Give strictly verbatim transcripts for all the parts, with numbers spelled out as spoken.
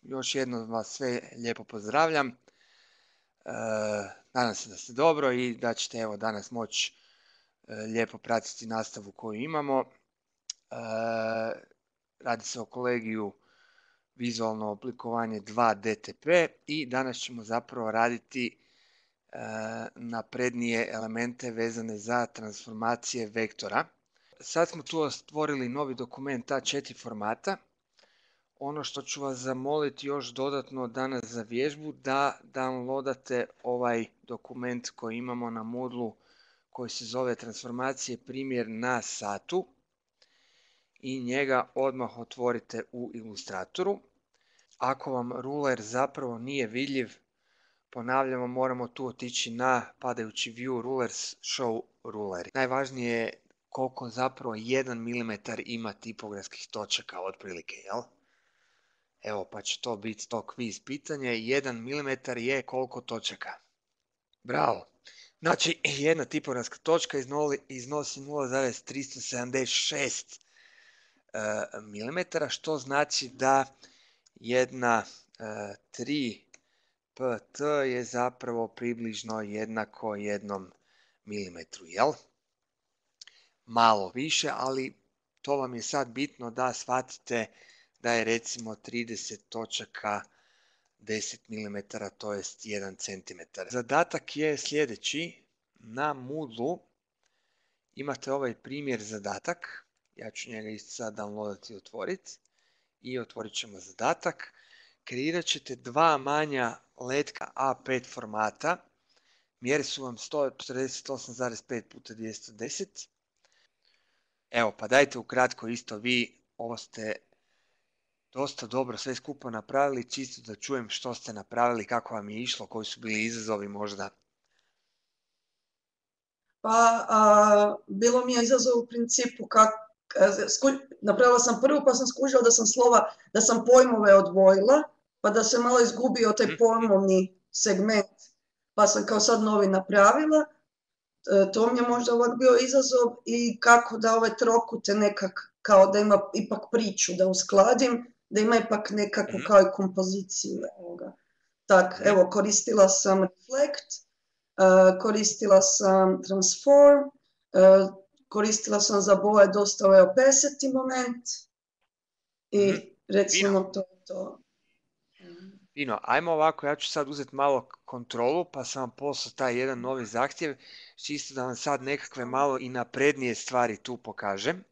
još jednom vas sve lijepo pozdravljam. E, nadam se da ste dobro i da ćete evo danas moći e, lijepo pratiti nastavu koju imamo. E, radi se o kolegiju vizualno oblikovanje dva D T P i danas ćemo zapravo raditi e, naprednije elemente vezane za transformacije vektora. Sad smo tu stvorili novi dokument A četiri formata. Ono što ću vas zamoliti još dodatno danas za vježbu, da downloadate ovaj dokument koji imamo na Moodlu koji se zove transformacije primjer na satu i njega odmah otvorite u Ilustratoru. Ako vam ruler zapravo nije vidljiv, ponavljamo, moramo tu otići na padajući view rulers, show ruler. Najvažnije je koliko zapravo jedan milimetar ima tipografskih točaka otprilike, jel? Evo, pa će to biti to kviz pitanje. jedan milimetar je koliko točaka? Bravo! Znači, jedna tipografska točka iznosi nula zarez tristo sedamdeset šest milimetara, što znači da jedna tri P T je zapravo približno jednako jednom milimetru, jel? Malo više, ali to vam je sad bitno da shvatite da je recimo trideset točaka deset milimetara, to jest jedan centimetar. Zadatak je sljedeći. Na Moodlu imate ovaj primjer zadatak. Ja ću njega isto sad downloadati i otvoriti. I otvorit ćemo zadatak. Kreirat ćete dva manja letka A pet formata. Mjere su vam sto četrdeset osam zarez pet puta dvjesto deset. Evo, pa dajte ukratko isto vi, ovo ste dosta dobro sve skupo napravili, čisto da čujem što ste napravili, kako vam je išlo, koji su bili izazovi možda. Pa, a, bilo mi je izazov u principu kak, sku, napravila sam prvu pa sam skužila da sam slova, da sam pojmove odvojila, pa da se malo izgubio taj pojmovni segment, pa sam kao sad novi napravila. E, to mi je možda ovak bio izazov i kako da ove trokute nekak, kao da ima ipak priču, da uskladim, da ima ipak nekakvu kao i kompoziciju ovoga. Tak, evo, koristila sam Reflect, Uh, koristila sam Transform, uh, koristila sam za boje dosta ovaj opacity moment i mm-hmm. recimo Fino. to to. Fino, ajmo ovako, ja ću sad uzeti malo kontrolu, pa sam vam poslao taj jedan novi zahtjev, čisto da vam sad nekakve malo i naprednije stvari tu pokažem.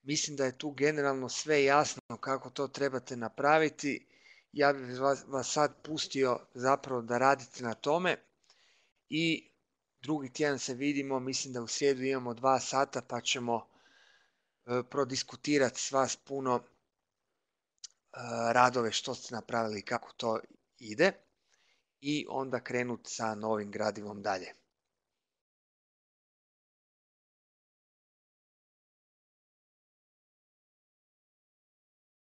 Mislim da je tu generalno sve jasno kako to trebate napraviti. Ja bih vas, vas sad pustio zapravo da radite na tome. I drugi tjedan se vidimo, mislim da u srijedu imamo dva sata pa ćemo e, prodiskutirati s vas puno e, radove što ste napravili i kako to ide i onda krenuti sa novim gradivom dalje.